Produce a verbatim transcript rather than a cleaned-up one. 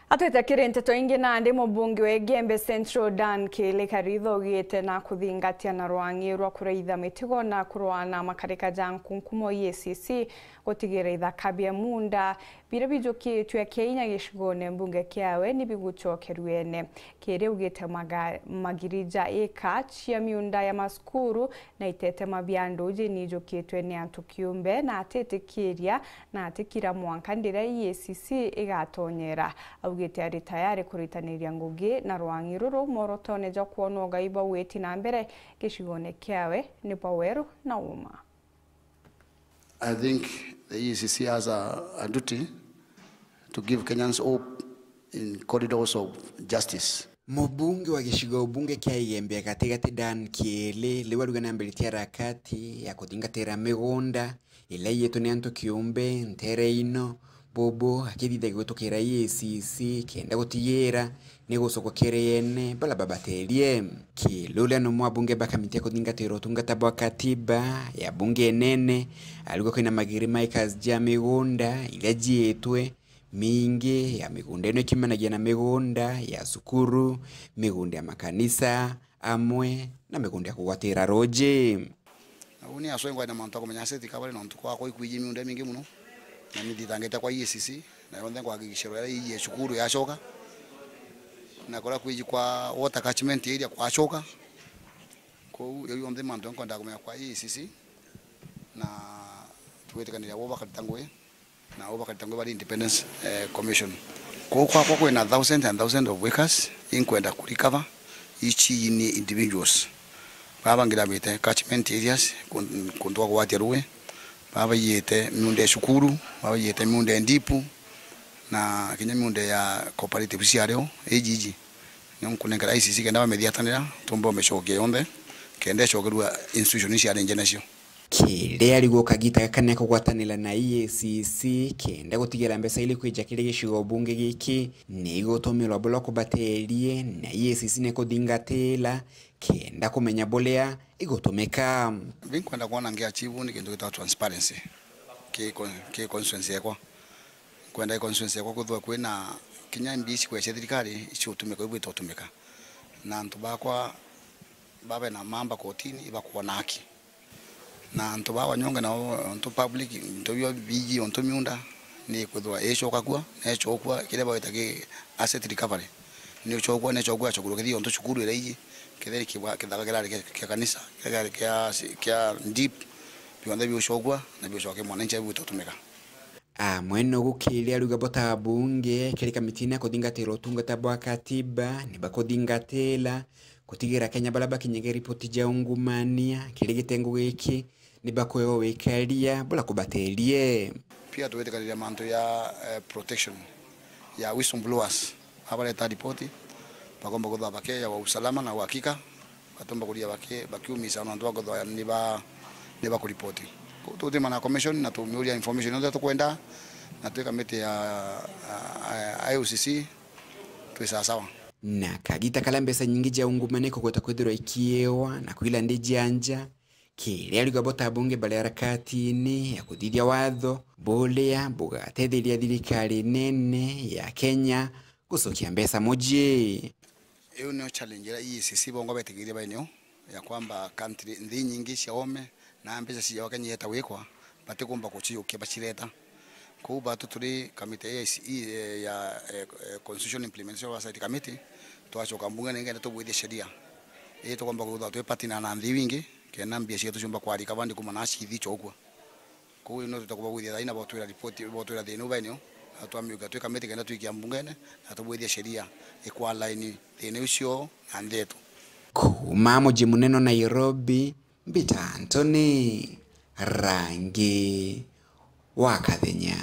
Atwite kiri nteto ingi, nandi mubunge wa Igembe Central Dan Kiili Karitho augite na kuthingatia na rwangi rwa kuraitha mitugo na kurwa na makarika ja nkunkumo E A C C gutigira ithaka bia miunda biria bijukitue kinya gicigone mbunge kiawe ni bigucokerua ene. Kiili augite maga-, magiri ja ika cia miunda ya masukuru na itetema bia nduji ni ijukitwe ni antu kiumbe, na atitikiria na atikira mwanka ndiria E A C C igatonyera. Augite ari tayari kuritaniria ngugi na rwangi ruru mworotone jwa kwona ugai bwa gwiti na mbere gicigone kiawe ni bwa weru na uma. I think the E A C C has a, a duty to give Kenyans hope in corridors of justice. Mubunge wa gicigo bunge kia Igembe ya Gatigati Dan Kiili riu aruga nambiritie harakati ya kuthingatira migunda ila iyitwe ni antu kiumbe ntere ino, bubu akithithagia gutukira E A C C kenda gutigira ni gucoka kiri ene bala babaterie. Kiili uria ni umwe wa abunge ba kamiti ya kuthingatira utungata bwa katiba ya bunge inene, ariuga kwina magiri ma acres ja migunda iria jiitwe, mingi ya migunda ino ikiumanagia na migunda ya cukuru, migunda ya makanisa, amwe na migunda ya kugwatira ruji. Na uni aswengwa na mantu akumenya asset recovery nontu kwakwa ikwiji miunda mingi muno, na ni thitangite kwa E A C C, na yonthe ngwakikisha rwera iji ya cukuru yacoka, na kuria kwiji kwa water catchment area kwacoka. Kou yau yonthe mantu nkwenda kumenya kwa E A C C, na tugwitikaniria bo bakarita ngugi, na bo bakarita ngugi bari Independence, eh, Commission. Kou kwakwa kwina thousand and thousand of acres inkwenda ku recover each ni individuals. Baba bangiramite catchment areas, kun-, kuntu gwa kugwatia ruui, baba baiyite miunda ya cukuru, baba baiyite miunda ya ndipu, na kinya miunda ya cooperatives ciario, iji iji. Nio nkunenkera E A C C kenda bamithiatanira, tumbe umicokia yonthe, kenda icokerua institution iria ciari nje nacio. Kiria arigwo kagita gaka ni akugwatanira na E A C C kenda gutigira mbeca iri kwija kiri gicigo bunge giki ni igutumirwa bula kubaterie, na E A C C ni kuthingatira kenda kumenya buria igutumika. Binkwenda kwona ngi achieve ni kintu gitagwa transparency ki con-, ki constituency yakwa. Nkwenda i constituency yakwa kwithirwa kwina kinya mbia ici kwea cia thirikari icigutumika uria bwita gutumika, na antu bakwa babe na mamba kotini ibakwona haki, na antu ba Wanyonge nao, antu public, into bio biji, ontu miunda ni kwithirwa icokakua na icokua kiria bagwita ki asset recovery, ni ucokua, ni icokua, acokua kithii ontu cukuru ira iji, kethira kibwa-, kithaka kirari kia, kia kanisa, kirari kia, kia ndip, bionthe biucokua na biucoka ki mwananchi abu bitutumika. Amwe no gukiria ariuga bo ta abunge kiri kamitine ya kuthingatira utungata bwa katiba ni bakuthingatira gutigira Kenya baria bakinyage ripoti ja ungumania kiri gitengo giki ni bakwewa wikaria bula kubaterie. Pia tugwitikaniria mantu ya, eh, protection ya whistleblowers. Abareta ripoti, bakomba kwithirwa bakeewa usalama na uhakika, batomba kuria baki-, bakiumisa na antu bakwithirwa ni ba-, ni bakuripoti. Kou tutimana na commission na tumiuria information yonthe tukwenda, na twi kamiti ya, ya, ya I O C C, twi sawasawa. Na kagita karia mbeca nyingi ja ungumania ikugweta kwithirwa ikiewa na kwila ndi ja nja, kiria ariuga bo ta abunge bari harakatine ya kuthithia watho buria bugatetheria thirikari nene ya Kenya gucokia mbeca mucii. Iu nio challenge iria E A C C bongwa betikirie bainio ya kwamba country, nthi nyingi cia ome na mbeca ciawa Kenya yeta gwikwa, batikumba kuciukia bacireta. Kou batu turi kamiti ya A I C, eh, ya, eh, eh, Constitution Implementation Oversight Committee, twacoka mbungene nikenda tubwithie sheria. Ii tukomba kwithirwa twi partner na nthi iu ingi, kenda mbia cietu ciumba kwarika bandi kuma na cithi cokua. Kou ino tutakubagwithia thaina botwira ripoti, botwira thina u bainio, na twamiukia twi kamiti kenda twikia mbungene, na tubwithie sheria ikwa line thina ucio na nthi yetu. Kuma mucii munene Nairobi, Mbita Anthony, Rangi wa Kathenya.